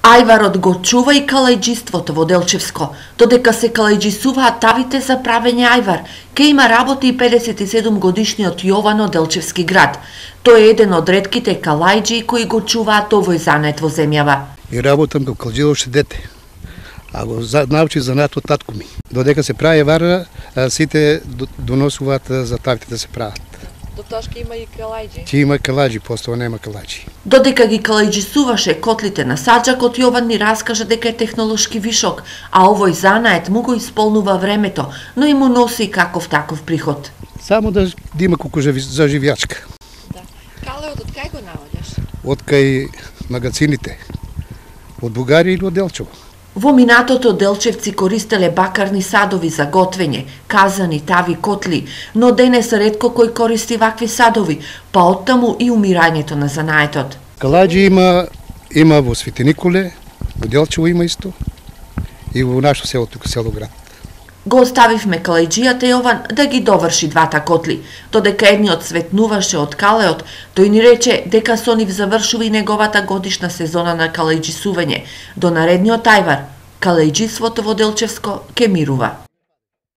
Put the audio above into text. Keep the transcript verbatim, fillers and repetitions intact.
Ајварот го чува и калајџиството во Делчевско. Додека се калајџисуваат тавите за правење ајвар, ке има работи и педесет и седум годишниот Јован од Делчевски град. Тој е еден од ретките калајџи кои го чуваат овој занет во земјава. И работам како калајџи уште дете, а го научи занат од татко ми. Додека се прави ајвар, сите доносуваат за тавите да се прават. До тошка има и калајџи. Ќе има калајџи, постоја нема калајџи. Додека ги калајџисуваше котлите на саджакот, Јован ни раскажа дека е технолошки вишок, а овој занает му го исполнува времето, но и му носи каков таков приход. Само да, да има колку за живјачка. Да. Калеот од кај го наоѓаш? Од кај магазините, од Бугарија или од Делчево. Во минатото делчевци користеле бакарни садови за готвење, казани, тави, котли, но денес ретко кој користи вакви садови, па оттаму и умирањето на занаетот. Калајџи има, има во Свети Николе, во Делчево има исто, и во нашо село, тука село град. Го оставивме калајџијата Јован да ги доврши двата котли. Додека едниот светнуваше од калеот, тој ни рече дека со нив завршува и неговата годишна сезона на калајџисување. До наредниот ајвар, калајџиството во Делчевско ке мирува.